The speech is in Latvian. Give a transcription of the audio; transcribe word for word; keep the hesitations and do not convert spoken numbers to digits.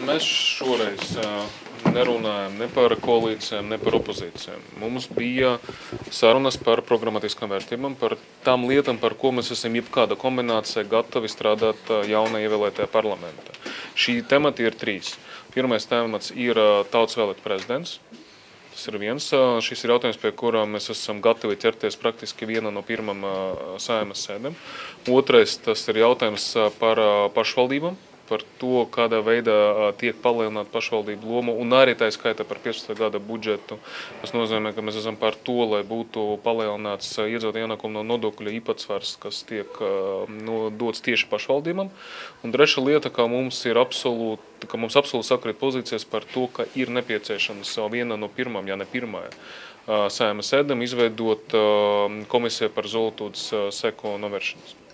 Mēs šoreiz nerunājam ne par koalīcijām, ne par opozīcijām. Mums bija sarunas par programmatiskām vērtībām, par tām lietām, par ko mēs esam jebkāda kombinācija gatavi strādāt jaunā ievēlētajā parlamentā. Šī temati ir trīs. Pirmais temats ir tautas vēlēt prezidents. Tas ir viens. Šis ir jautājums, pie kurā mēs esam gatavi ķerties praktiski viena no pirmām Saeimas sēdēm. Otrais, tas ir jautājums par pašvaldībām, par to, kādā veidā tiek palielināta pašvaldību loma, un arī tā skaitā par piecpadsmitā gada budžetu. Tas nozīmē, ka mēs esam par to, lai būtu palielināts iedzīvotāju ienākumu no nodokļu īpatsvars, kas tiek no, dots tieši pašvaldībām. Un trešā lieta, ka mums ir absolūti, ka mums absolūti sakrīt pozīcijas par to, ka ir nepieciešams viena no pirmām, ja ne pirmā Saeimas sēdēm izveidot komisiju par zolotūdes seku novēršanas.